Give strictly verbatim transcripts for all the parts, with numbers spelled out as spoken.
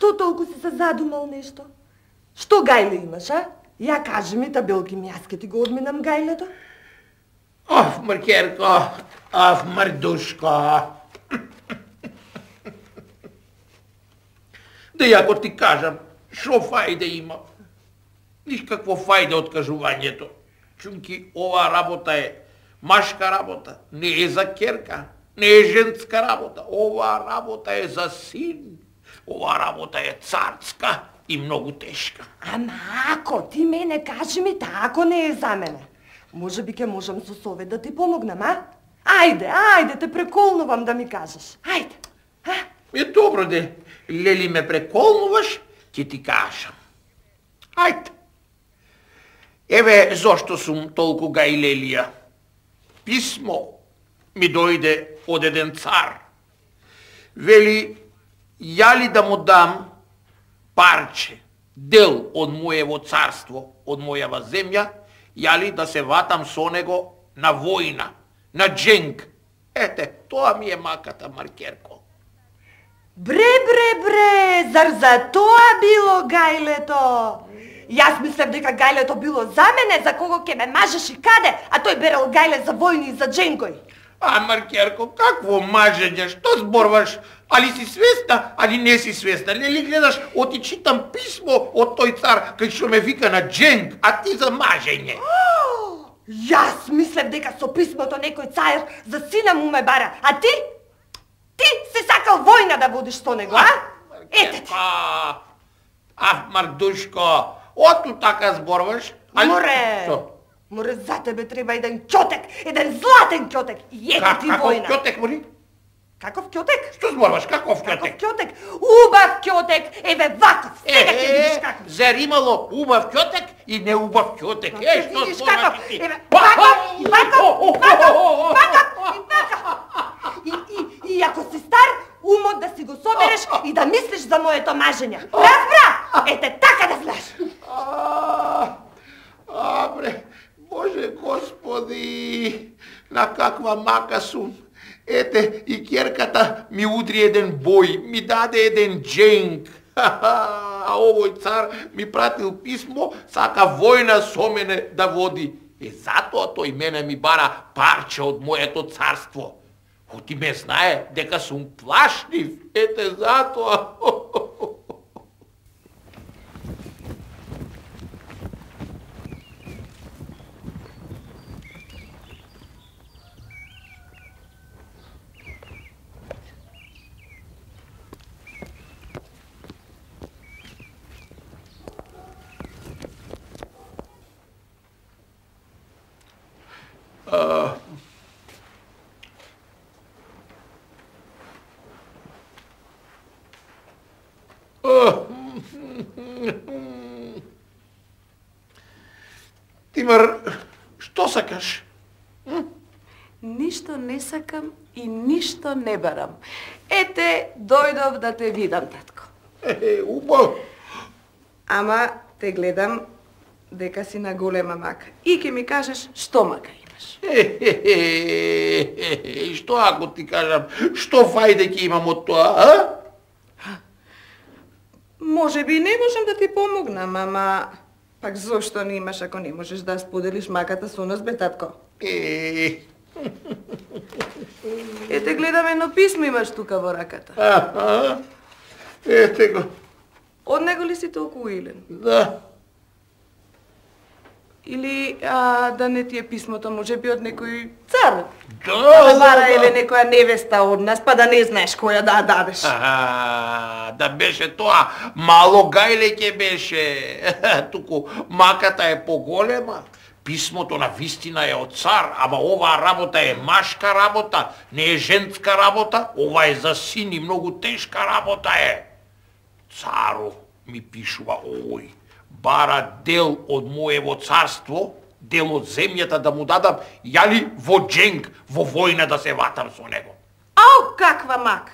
Што толку си се задумал нешто? Што гајле имаш, а? Ја кажи ми, табелки ми, јас ке ти го одминам гајлето. Аф, Маркерко, аф, Мардушко. Да јако ти кажам, шо фајде има? Ниш какво фајде од кажувањето. Чунки, ова работа е машка работа, не е за керка, не е женска работа. Ова работа е за син. Ова работа е царска и многу тешка. Ама ако ти мене кажи ми, тако не е за мене. Може би ке можам со совет да ти помогнам, а? Ајде, ајде, те преколнувам да ми кажеш. Ајде, а? Е добро де, лели ме преколнуваш, ќе ти кажам. Ајде. Еве зошто сум толку гајлелија. Писмо ми дојде од еден цар. Вели, ја ли да му дам парче, дел од моево царство, од мојава земја, ја ли да се ватам со него на војна, на дженг. Ете, тоа ми е маката, Маркерко. Бре, бре, бре, зар за тоа било гајлето? Јас мислев дека гајлето било за мене, за кого ќе ме мажеш и каде, а тој берел гајле за војни и за дженгој. А, Маркерко, какво мажење, што зборваш? Али си свесна, али не си свесна? Нели гледаш, оти читам писмо од тој цар, кај што ме вика на дженг, а ти за мажење. Јас мислев дека со писмото некој цар за сина му ме бара, а ти? Ти си сакал војна да водиш со него, а? Ете ти. Аф, Мардушко, оту така зборваш? Море, море, за тебе треба еден ќотек, еден златен ќотек, и ете ти војна. Каков ќотек, мори? Каков ќотек? Што зборваш, каков ќотек? Каков ќотек? Убав ќотек, еве ваков, сега ќе видиш каков. Зар имало убав ќотек и не убав ќотек? Е, што зборваш ти? Еве, ваков, ваков, ваков, ваков, и ваков. И, и, и ако си стар, умот да си го собереш и да мислиш за моето мажење. Разбра? Ете, така да знаеш. А, бре, Боже Господи, на каква мака сум. Ете, и керката ми удри еден бој, ми даде еден дженг. А овој цар ми пратил писмо, сака војна со мене да води. Е, затоа тој мене ми бара парче од моето царство. Оти ме знае дека сум плашлив, ете затоа. Тимар, што сакаш? Ништо не сакам и ништо не барам. Ете, дојдов да те видам, татко. Е, убаво. Ама те гледам дека си на голема мака. И ќе ми кажеш што мака имаш. И што ако ти кажам, што фајде ќе имам од тоа, а? Може би не можам да ти помогнам, ама пак зошто не имаш ако не можеш да споделиш маката со нас, бе, татко? Е. Ете, гледам едно писмо имаш тука во раката. Аха. Ете го. Од него ли си толку уилен? Да. Или а, да не ти е писмото, може би од некој цар? Да, да бара еле некоја невеста од нас, па да не знаеш која да дадеш. Аха, да беше тоа, мало гајле ќе беше. Туку маката е поголема. Писмото на вистина е од цар, ама оваа работа е машка работа, не е женска работа, ова е за син и многу тешка работа е. Цару ми пишува овој, бара дел од моево царство, дел од земјата да му дадам, јали во дженг, во војна да се ватам со него. Ау, каква мака!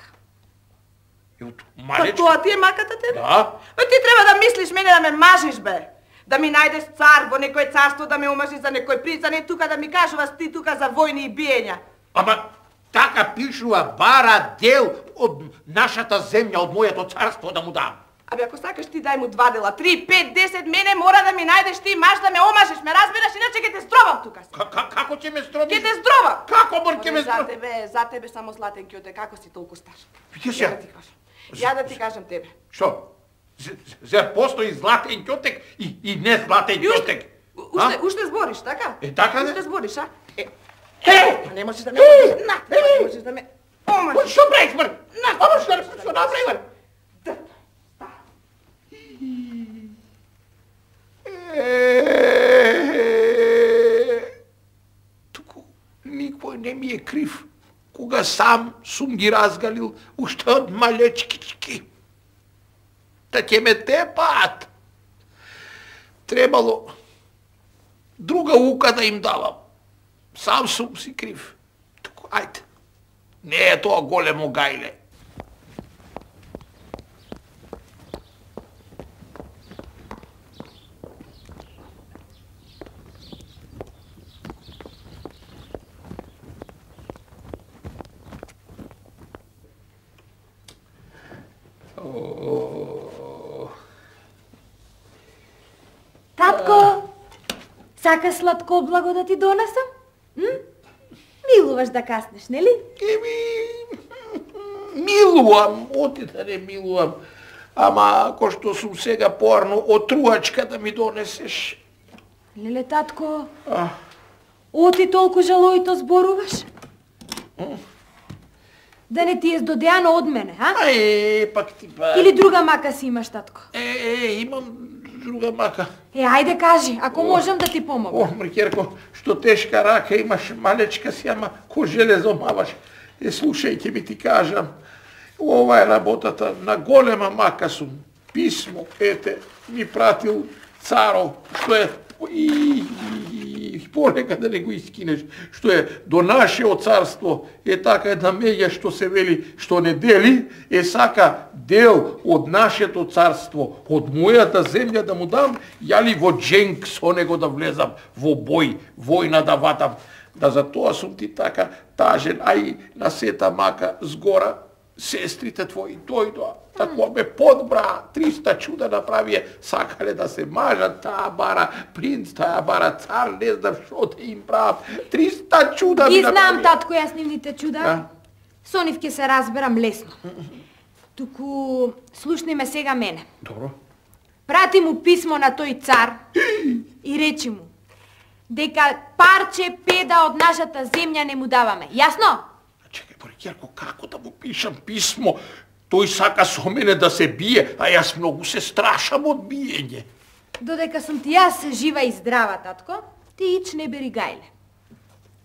Малечки. Па тоа ти е маката тебе? Да. Бе, ти треба да мислиш мене да ме мажиш, бе. Да ми најдеш цар во некој царство, да ме омажиш за некој принц, а не тука да ми кажуваш ти тука за војни и биења. Ама така пишува, бара дел од нашата земја, од моето царство да му дам. Абе, ако сакаш ти дај му два дела, три, пет, десет, мене мора да ми најдеш ти маш да ме омажеш, ме разбираш, иначе ќе те здробам тука. Како ќе ме здробиш? Ќе те здробам. Како мор ќе ме За здробиш? тебе, за тебе само златен кјоте, како си толку стар? Ја Ја да ти кажам. Ја да ти кажам тебе. Што? Зер постои златен ќотек и, и не златен И уште, ќотек? уште, уште збориш, така? Е, така не? Уште збориш, а? Е, Е! па не можеш да ме омажеш, на, не можеш да ме омажеш. Што правиш, мр? Ама што што направи, мр? Туку никој не ми е крив, кога сам сум ги разгалил уште од малечкички. Та ќе ме тепаат. Требало друга ука да им давам. Сам сум си крив. Туку, ајде. Не е тоа големо гајле. Татко, сакаш сладко облаго да ти донесам? М? Милуваш да каснеш, нели? Еми, милувам, оти да не милувам. Ама, ако што сум сега порно, отрувачка да ми донесеш. Леле, татко, А, оти толку жалоито зборуваш? Да не ти е здодеано од мене, а? е, пак ти па... Или друга мака си имаш, татко? Е, е, имам друга мака. Е, ајде кажи, ако можам да ти О, помогам. мркерко, што тешка рака имаш, малечка си, ама ко железо маваш. Е, слушај, ќе ми ти кажам, ова е работата на голема мака сум. Писмо, ете, ми пратил царо, што е и, и, и полека да не го искинеш, што е до нашето царство, е така една меѓа што се вели, што не дели, е сака дел од нашето царство, од мојата земја да му дам, јали во дженк со него да влезам, во бој, војна да ватам. Да за тоа сум ти така тажен, а и на сета мака згора, сестрите твои дојдоа, тако ме подбра, триста чуда направие, сакале да се мажат, таа бара принц, таа бара цар, не знам што да им правам, триста чуда ми Ги направија. знам, татко, јас нивните чуда. А? Со нив ќе се разберам лесно. Туку, слушни ме сега мене. Добро. Прати му писмо на тој цар и речи му дека парче педа од нашата земја не му даваме. Јасно? Чекај, Борикерко, како да му пишам писмо? Тој сака со мене да се бие, а јас многу се страшам од биење. Додека сум ти јас жива и здрава, татко, ти ич не бери гајле.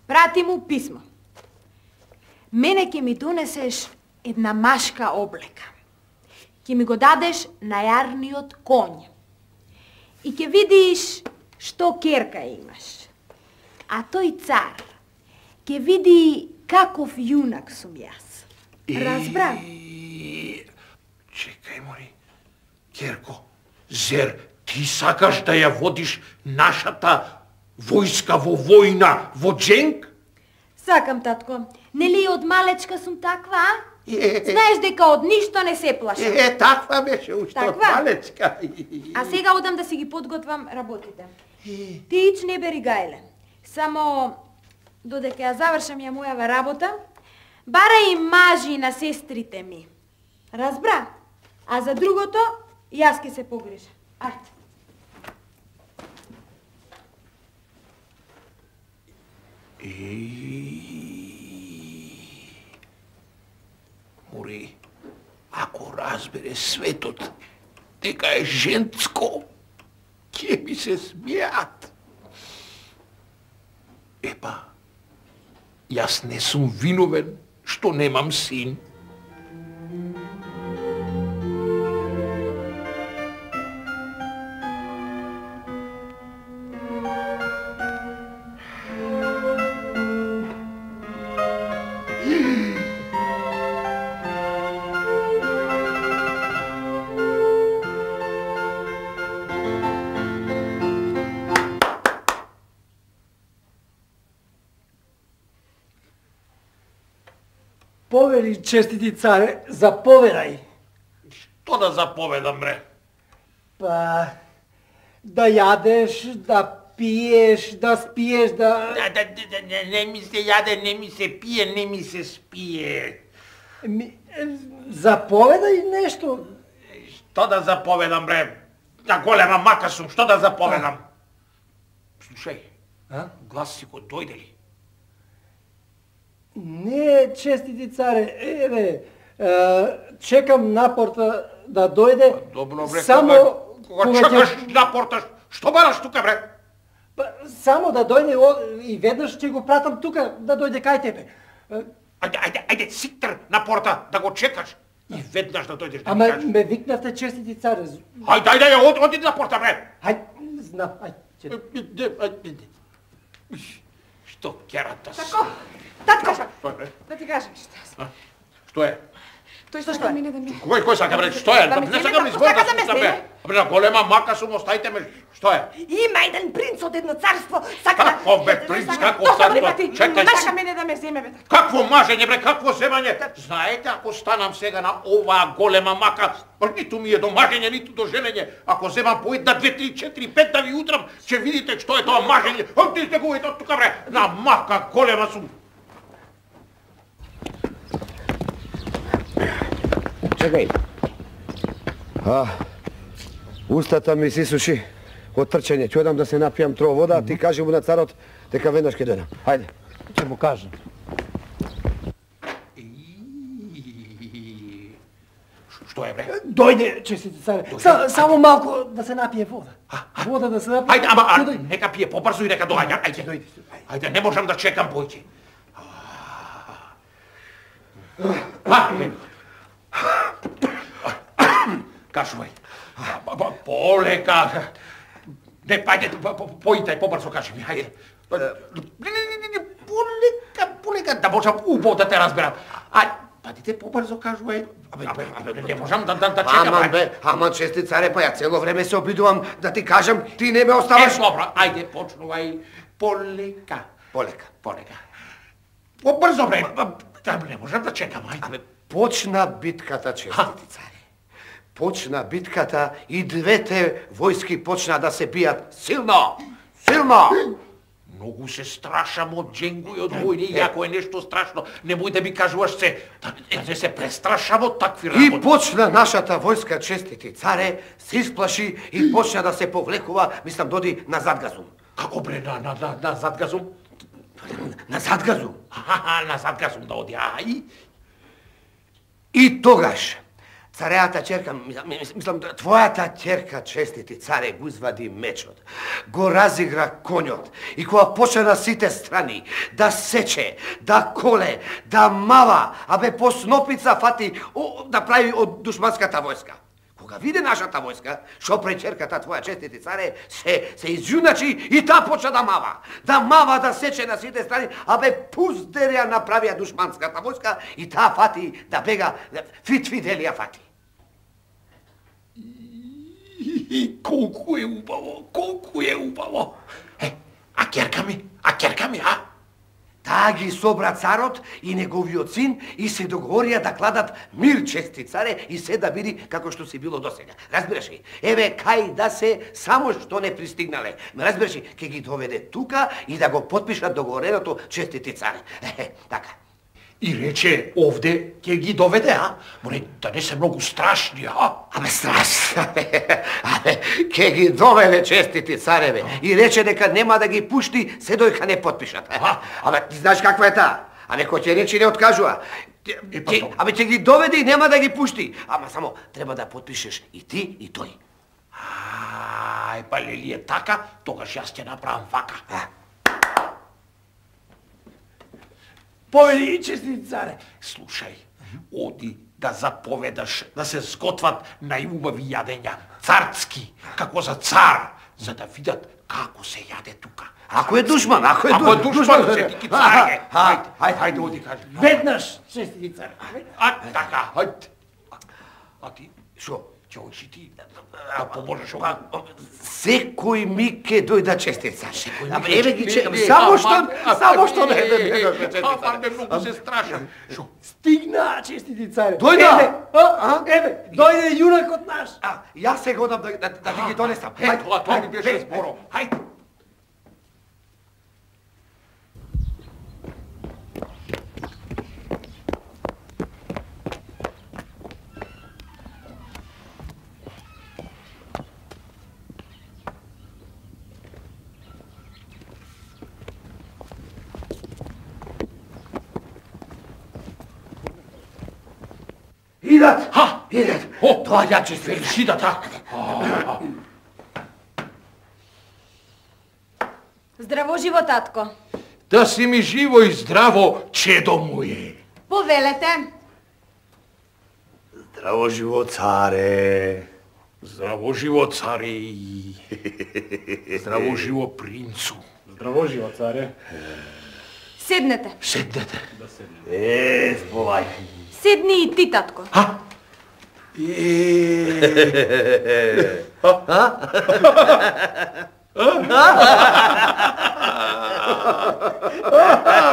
Прати му писмо. Мене ќе ми донесеш една машка облека. Ќе ми го дадеш на јарниот конј. И ќе видиш што керка имаш. А тој цар ќе види каков јунак сум јас. Разбра? И... Чекај, мори. Керко, зер, ти сакаш да ја водиш нашата војска во војна, во дженк? Сакам, татко. Нели од малечка сум таква, а? Е, Знаеш дека од ништо не се плашам. е, таква беше уште од Таква? малечка. А сега одам да си ги подготвам работите. Ти ич не бери гајле. Само додека ја завршам ја мојава работа, бара и мажи на сестрите ми. Разбра? А за другото, јас ке се погрижам. Ајде. Мори, ако разбере светот дека е женско, ќе ми се смеат. Епа, јас не сум виновен што немам син. Повели, честити царе, заповедај. Што да заповедам, бре? Па, да јадеш, да пиеш, да спиеш, да... Да, да, да, не, не ми се јаде, не ми се пие, не ми се спие. Ми, заповедај нешто. Што да заповедам, бре? На голема мака сум, што да заповедам? Слушај, А? глас си го дојде ли? Не, честити царе, еве, е, чекам на порта да дојде. Добро, бре, само кога, кога чекаш на порта, што бараш тука, бре? Па, само да дојде о, и веднаш ќе го пратам тука да дојде кај тебе. Е, Ајде, ајде, ајде, сиктер на порта да го чекаш и веднаш да дојдеш да Ама ми кажеш. ме викнавте честити царе. Ајде, ајде, од, оди на порта, бре. Ај, знам, ај. Че... Што керата си? Тако, татко, Што е, бре? да ти кажам нешто. Што е? Тој сака мене да ми... Кој кој сака, бре? Што е? Да ме Не земе, сакам ни татко, збор да сака да ме слушам, бре. земе. Бре, на голема мака сум, оставите ме. Што е? Има еден принц од едно царство, сака да... Какво, бе, принц, какво Тоа царство? ти, Чекај. сака мене да ме земе, бе, татко. Какво мажење, бре, какво земање? Знаете, ако станам сега на оваа голема мака, па ниту ми е до мажење, ниту до женење. Ако земам по една, две, три, четири, пет да ви утрам, ќе видите што е тоа мажење. Оти сте го ето тука, бре, на мака голема сум. Чекај. А, устата ми си суши од трчање. Ќе одам да се напијам тро вода, а ти кажи му на царот дека веднаш ќе дојдам. Хајде. Ќе му кажам. Што е, бре? Дојде, честити царе. Са, само малку да се напие вода. Вода да се напие. Ајде, ама, а, Ќе дојде. нека пие побрзо и нека доаѓа. Ајде, ајде, не можам да чекам појќе. Ајде. Кажувај. Полека. Не, ајде, појте, побрзо кажи ми, ајде. Не, не, не, не, полека, полека, да можам убаво да те разберам. Ајде, падите побрзо кажувај. Абе, абе, не можам да, да, да чекам. Аман бе, аман чести царе, па ја цело време се обидувам да ти кажам, ти не ме Е, оставаш. добро, ајде, почнувај полека. Полека. Полека. Побрзо, бре. Да, не можам да чекам, ајде. Абе, почна битката, честити царе. Почна битката и двете војски почна да се бијат силно, силно. Многу се страшам од дженгу и од војни, и ако е нешто страшно, немој да ми кажуваш се, да не се престрашам од такви И работи. почна нашата војска, честити царе, се исплаши и почна да се повлекува, мислам, доди на Задгазум. Како, бре, на, на, на, на Задгазум? На Задгазум. Аха, на Задгазум да оди, а и... И тогаш, цареата ќерка, мислам, твојата ќерка, честити царе, го извади мечот, го разигра конјот и кога почна на сите страни да сече, да коле, да мава, абе по снопица фати о, да прави од душманската војска. Кога виде нашата војска, што пре ќерката твоја, честити царе, се, се изјуначи и таа почна да мава. Да мава, да сече на сите страни, абе пуздерја направија душманската војска и таа фати да бега, фит фиделија фати. И колку е убаво, колку е убаво. Е, а ќерка ми, а ќерка ми, а? Таа ги собра царот и неговиот син и се договорија да кладат мир, чести царе, и се да биди како што си било досега. Разбираш ли? Еве кај да се, само што не пристигнале. Разбираш ли? Ке ги доведе тука и да го потпишат договореното, честити царе. Е, така. И рече, овде ќе ги доведе, а? Море, да не се многу страшни, а? Абе, страшно. Абе, ке ги доведе, честити цареве. И рече дека нема да ги пушти се дојка не потпишат. Абе, ти знаеш каква е таа? Абе, кој ќе рече не откажува. Ќе- Абе, ќе ги доведе и нема да ги пушти. Ама само треба да потпишеш и ти и тој. Ај, па лели е така, тогаш јас ќе направам вака. Повели, честити царе. Слушај, оди да заповедаш да се сготват најубави јадења, царски, како за цар, за да видат како се јаде тука. Ако е душман, ако е Ако е душман, душман, се ти ки царе. Ајде, Ајде, ајде, оди кажи. Веднаш, честити царе. А, така, ајде. А ти, Шо? ќе одиш и ти, да поможеш ова. Секој ми ке дојда, честит цар. Абе, ми еве ке- ги не, чекам. не, Само аман, што, а, само а, што не, не не, да не, не не, дојде, честит Аман, цар. ме многу се страшам. Шо? Стигна На, честити царе. Дојде! Еве, а, еве, дојде јунакот наш. А, јас се годам да, да, да ти ги донесам. Е, тоа, тоа ми беше зборов. Хајде. Идат! Ха! Идат! О, Доаѓа че се. Величи така. Здраво живо, татко. Да си ми живо и здраво, чедо моје. Повелете. Здраво живо, царе. Здраво живо, царе. Здраво живо, принцу. Здраво живо, царе. Седнете. Седнете. Е, сполај. Седни и ти, татко. Ха?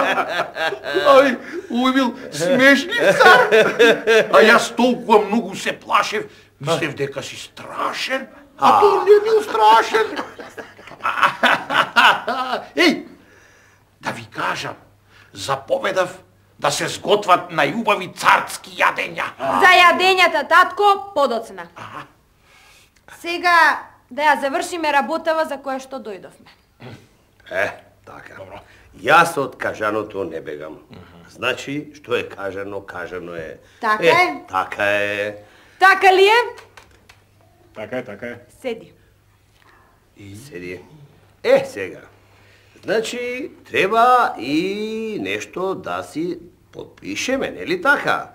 Ај, овој бил смешни цар. А јас толкова многу се плашев, мислев дека си страшен, а тој не бил страшен. Еј, да ви кажам, заповедав да се сготват најубави царски јадења. За јадењата, татко, подоцна. Сега да ја завршиме работава за која што дојдовме. Е, така. Јас од кажаното не бегам. Значи, што е кажано, кажано е. Така е. Така е. Така ли е? Така е, така е. Седи. Седи. Е, сега. Значи, треба и нешто да си подпишеме, нели така?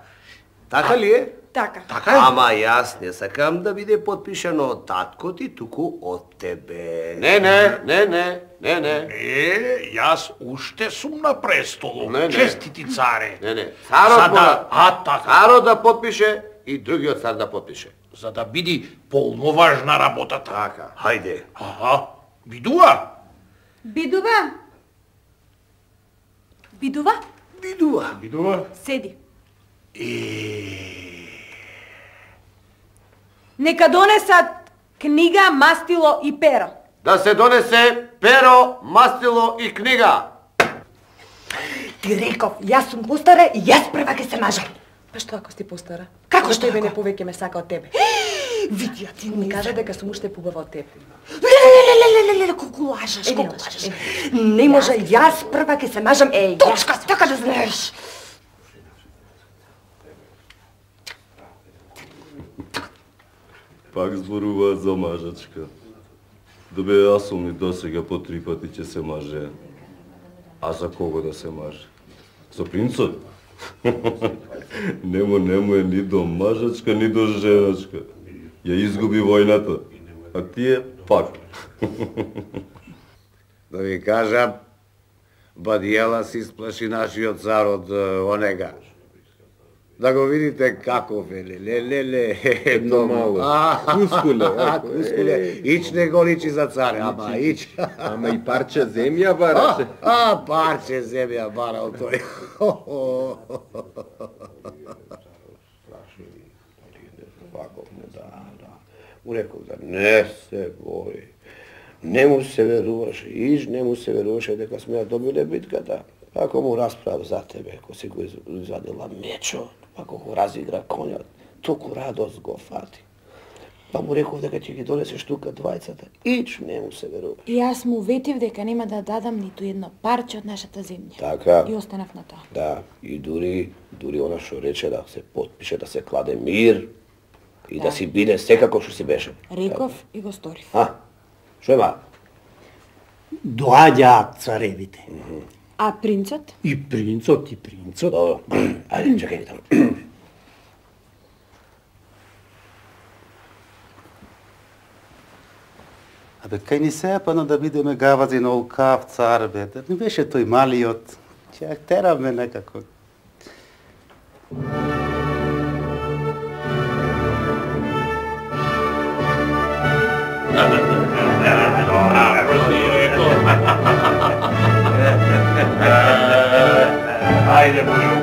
Така ли е? Така. Така е? Ама јас не сакам да биде подпишано од татко ти, туку од тебе. Не, не, не, не, не, не. Не, јас уште сум на престолот. Не, не. Честити царе. Не, не. Царот За да, мора- а така. Царот да подпише и другиот цар да подпише. За да биде полноважна работата. Така. Хајде. Аха, бидува. Бидува? Бидува? Бидува. Бидува? Седи. Е, Нека донесат книга, мастило и перо. Да се донесе перо, мастило и книга. Ти реков, јас сум постара и јас прва ќе се мажам. Па што ако си постара? Како што што тебе ако? не повеќе ме сака од тебе? Види ја ти Ми ми кажа дека сум уште побава од тебе. Лелелелелелеле, колку лажеш, Е, не колку лажеш, лажеш. е. Не може, јас прва ќе се мажам. Е, Точка, јас- така да знаеш. Пак зборуваат за мажачка. Да бе, јас сум и досега по три пати ќе се маже. А за кого да се маже? За принцот? Нему, нему е ни до мажачка, ни до женачка. Ја изгуби војната. А тие пак. Да ви кажам, Бадијела си сплаши нашиот цар од е, онега. Да го видите каков е, ле, ле, ле, едно мало. Кускуле, а, кускуле. Ич не го личи за цар, ама ич. Ама и парче земја бараше. А, парче земја барал тој. Ваков му, да, да. Му реков да не се бои. Не му се веруваше, иш не му се веруваше дека сме ја добиле битката. Ако му расправ за тебе, ако си го извадила мечот, ако го разигра конјот, толку радост го фати. Па му реков дека ќе ги донесеш тука двајцата, ич не му се верува. И јас му ветив дека нема да дадам ниту едно парче од нашата земја. Така. И останав на тоа. Да, и дури, дури она што рече да се подпише, да се кладе мир и да, Да. си биде секако што си беше. Реков и го сторив. А, што има? Доаѓаат царевите. А принцот? И принцот, и принцот. Добро, ајде, чекај таму. Абе, кај ни се пано да бидеме гавази на олкав цар, бе. Да не беше тој малиот. Ќе ја тераме некако. Ајде, Боју.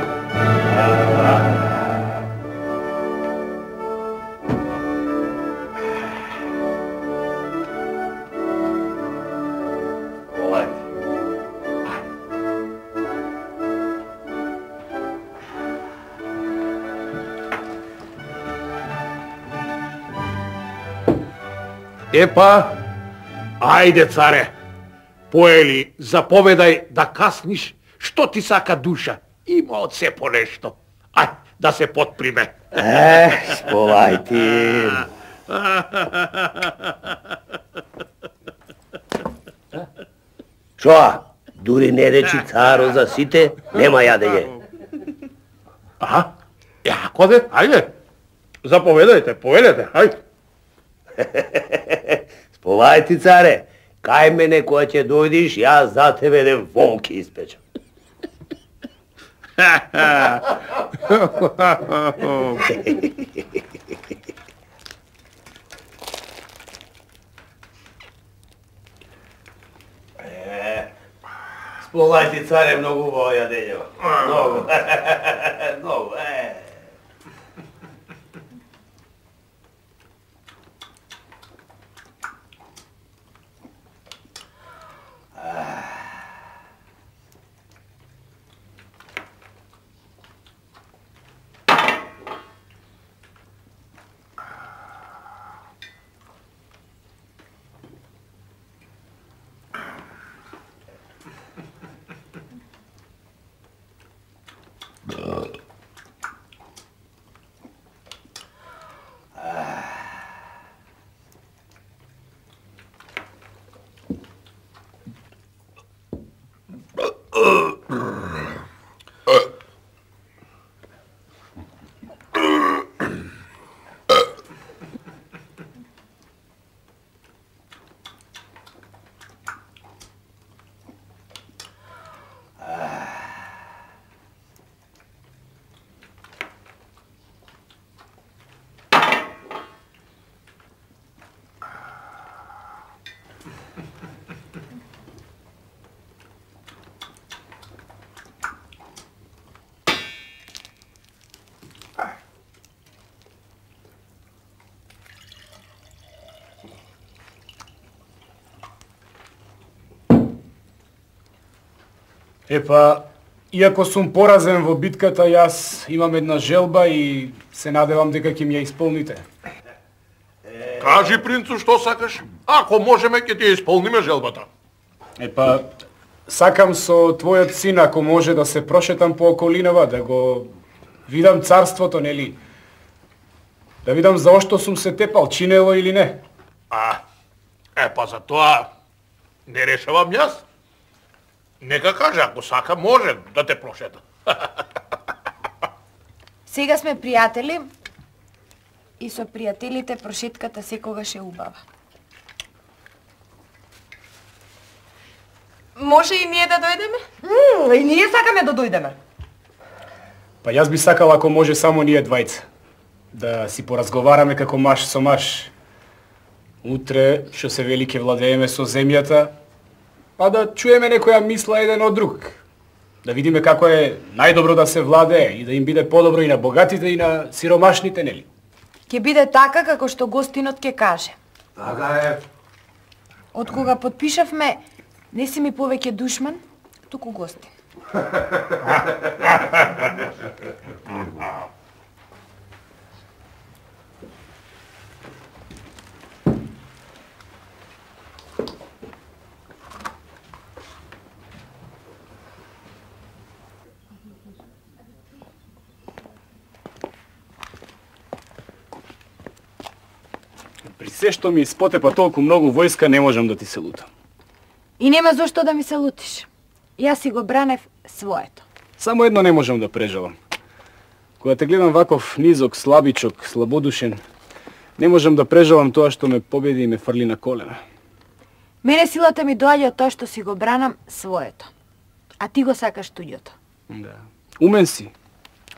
Епа, ајде, царе, поели, заповедај да касниш, што ти сака душа. Има од се по нешто. Ај, да се подприме. Е, Сполајтин. Шоа, дури не речи царо за сите, нема јадење. Аха, јако де, ајде, заповедајте, повелете, ајде. Сполајти, царе, кај мене кога ќе дојдиш, јас за тебе еден волки испечам. Сполајти, царе, многу убаво јадење. Многу. Многу, е. Епа, иако сум поразен во битката, јас имам една желба и се надевам дека ќе ми ја исполните. Кажи, принцу, што сакаш? Ако можеме, ќе ти ја исполниме желбата. Епа, сакам со твојот син, ако може, да се прошетам по околинава, да го видам царството, нели? Да видам за што сум се тепал, чинело или не. А, епа за тоа не решавам јас. Нека каже, ако сака, може да те прошета. Сега сме пријатели и со пријателите прошетката секогаш е убава. Може и ние да дојдеме? М, и ние сакаме да дојдеме. Па јас би сакал ако може само ние двајца. Да си поразговараме како маж со маж. Утре, што се вели, ќе владееме со земјата, па да чуеме некоја мисла еден од друг. Да видиме како е најдобро да се владее и да им биде подобро и на богатите и на сиромашните, нели? Ќе биде така како што гостинот ќе каже. Така е. Од кога подпишавме, не си ми повеќе душман, туку гостин. При се што ми спотепа толку многу војска, не можам да ти се лутам. И нема зошто да ми се лутиш. Јас си го бранев своето. Само едно не можам да прежалам. Кога те гледам ваков низок, слабичок, слабодушен, не можам да прежалам тоа што ме победи и ме фрли на колена. Мене силата ми доаѓа од тоа што си го бранам своето. А ти го сакаш туѓото. Да. Умен си.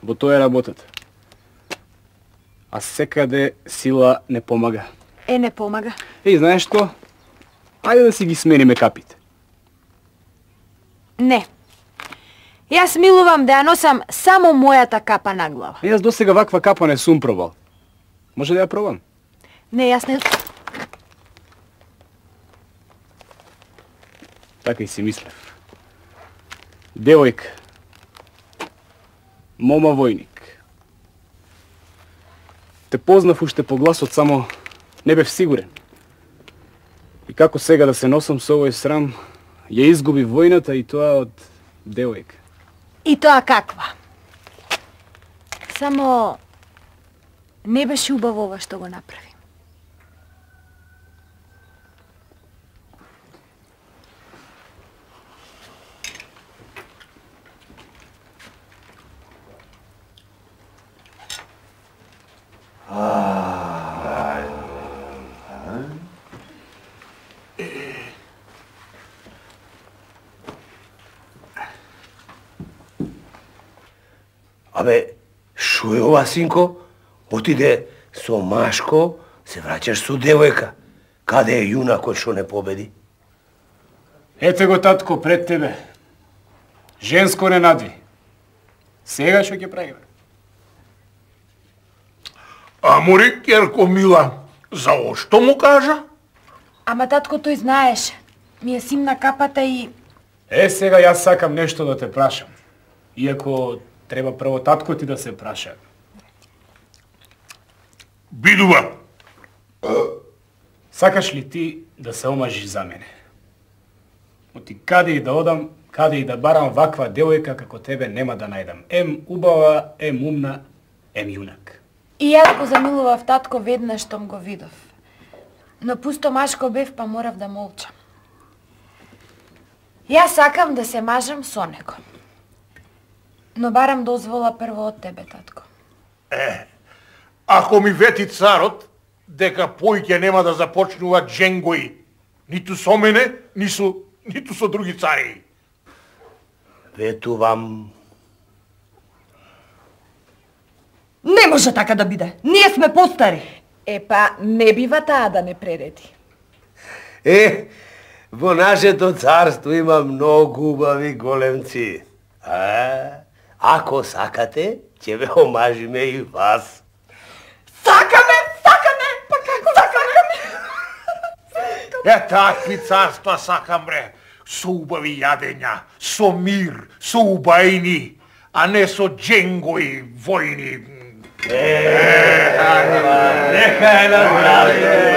Во тоа е работата. А секаде сила не помага. Е, не помага. Еј, знаеш што? Ајде да си ги смениме капите. Не. Јас милувам да ја носам само мојата капа на глава. Јас досега ваква капа не сум пробал. Може да ја пробам? Не, јас не... Така и си мислев. Девојка. Мома војник. Те познав уште по гласот, само не бев сигурен. И како сега да се носам со овој срам, ја изгуби војната и тоа од девојка. И тоа каква? Само не беше убаво ова што го направи. Абе, шо е ова, синко? Отиде со Машко, се враќаш со девојка. Каде е јунакот што не победи? Ете го, татко, пред тебе. Женско не надви. Сега што ќе правиме? Амори, керко мила, за ошто му кажа? Ама татко тој знаеш. Ми е симна капата и... Е, сега јас сакам нешто да те прашам. Иако треба прво татко ти да се праша. Бидува. Сакаш ли ти да се омажиш за мене? Оти каде и да одам, каде и да барам ваква девојка како тебе нема да најдам. Ем убава, ем умна, ем јунак. И јас го замилував татко веднаш штом го видов. Но пусто Машко бев, па морав да молчам. Јас сакам да се мажам со него. Но барам дозвола прво од тебе, татко. Е, ако ми вети царот, дека поиќе нема да започнуваат дженгои, ниту со мене, ни со, ниту со други цари. Ветувам. Не може така да биде. Ние сме постари. Епа, не бива таа да не пререди. Е, во нашето царство има многу убави големци. А, ако сакате, ќе ве омажиме и вас. Сакаме, сакаме, па како сакаме? Е, такви царства сакам, бре. Со убави јадења, со мир, со убајни, а не со дженгои, војни. Нека е на здравје.